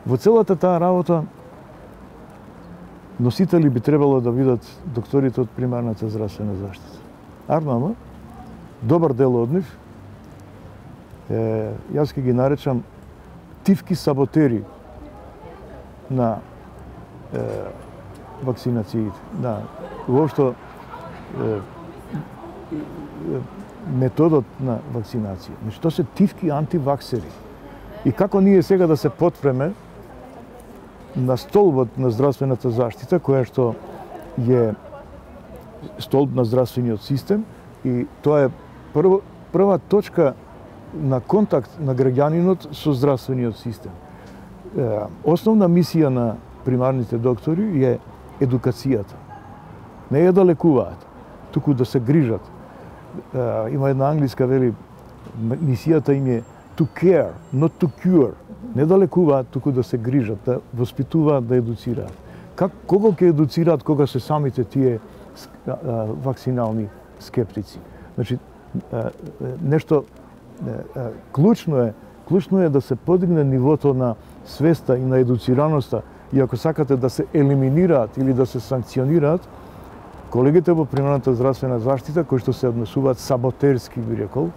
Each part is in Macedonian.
Во целата таа работа носители би требало да бидат докторите од примарната здравствена заштита. Ама, добар дел од нив, јас ќе ги наречам тивки саботери на вакцинациите, на воопшто методот на вакцинација. Значи, тоа се тивки антиваксери. И како ние сега да се потпреме на столбот на здравствената заштита, која што е столб на здравствениот систем, и тоа е прва точка на контакт на граѓанинот со здравствениот систем. Основна мисија на примарните доктори е едукацијата. Не е да лекуваат, туку да се грижат. Има една англиска вели, мисијата им е to care, not to cure. Не да лекуваат, туку да се грижат, да воспитуваат, да едуцираат. Кого ќе едуцираат кога се самите тие вакцинални скептици? Значи, нешто клучно е да се подигне нивото на свеста и на едуцираноста, и ако сакате да се елиминираат или да се санкционираат колегите во примарната здравствена заштита кои што се однесуваат саботерски, би рекол,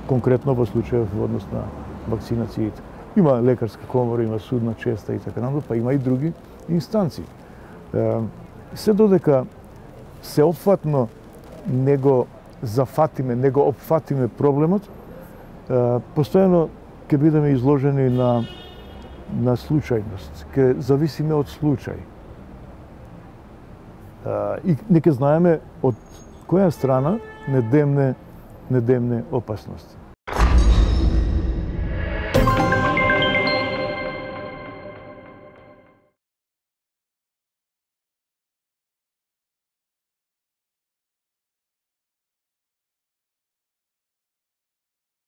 конкретно во случајот во однос на вакцинациите. Има лекарска комора, има судна честа и така натаму, па има и други инстанции. Се додека сеопфатно не го зафатиме, не го опфатиме проблемот, постојано ќе бидеме изложени на случајност, ќе зависиме од случај. И нека знаеме од која страна не демне опасност.